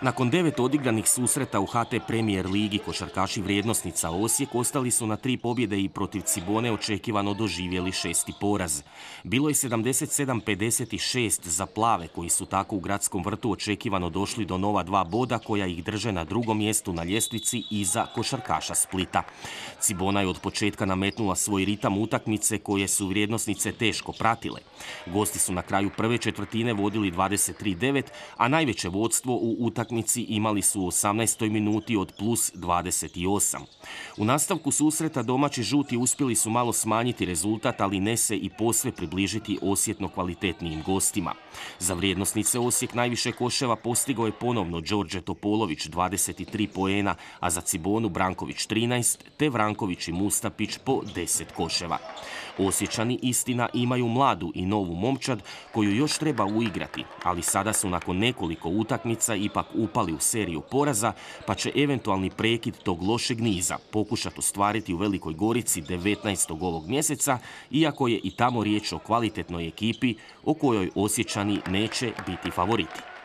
Nakon 9 odigranih susreta u HT Premier ligi košarkaši Vrijednosnica Osijek ostali su na 3 pobjede i protiv Cibone očekivano doživjeli 6. poraz. Bilo je 77-56 za plave koji su tako u Gradskom vrtu očekivano došli do nova 2 boda koja ih drže na drugom mjestu na ljestvici iza košarkaša Splita. Cibona je od početka nametnula svoj ritam utakmice koje su Vrijednosnice teško pratile. Gosti su na kraju prve četvrtine vodili 23-9, a najveće vodstvo u utakmici imali su u 18. minuti od plus 28. U nastavku susreta domaći žuti uspjeli su malo smanjiti rezultat, ali ne se i posve približiti osjetno kvalitetnijim gostima. Za Vrijednosnice Osijek najviše koševa postigao je ponovno Đorđe Topolović 23 poena, a za Cibonu Branković 13, te Vranković i Mustapić po 10 koševa. Osječani istina imaju mladu i novu momčad koju još treba uigrati, ali sada su nakon nekoliko utakmica ipak upali u seriju poraza, pa će eventualni prekid tog lošeg niza pokušati ostvariti u Velikoj Gorici 19. ovog mjeseca, iako je i tamo riječ o kvalitetnoj ekipi o kojoj Osječani neće biti favoriti.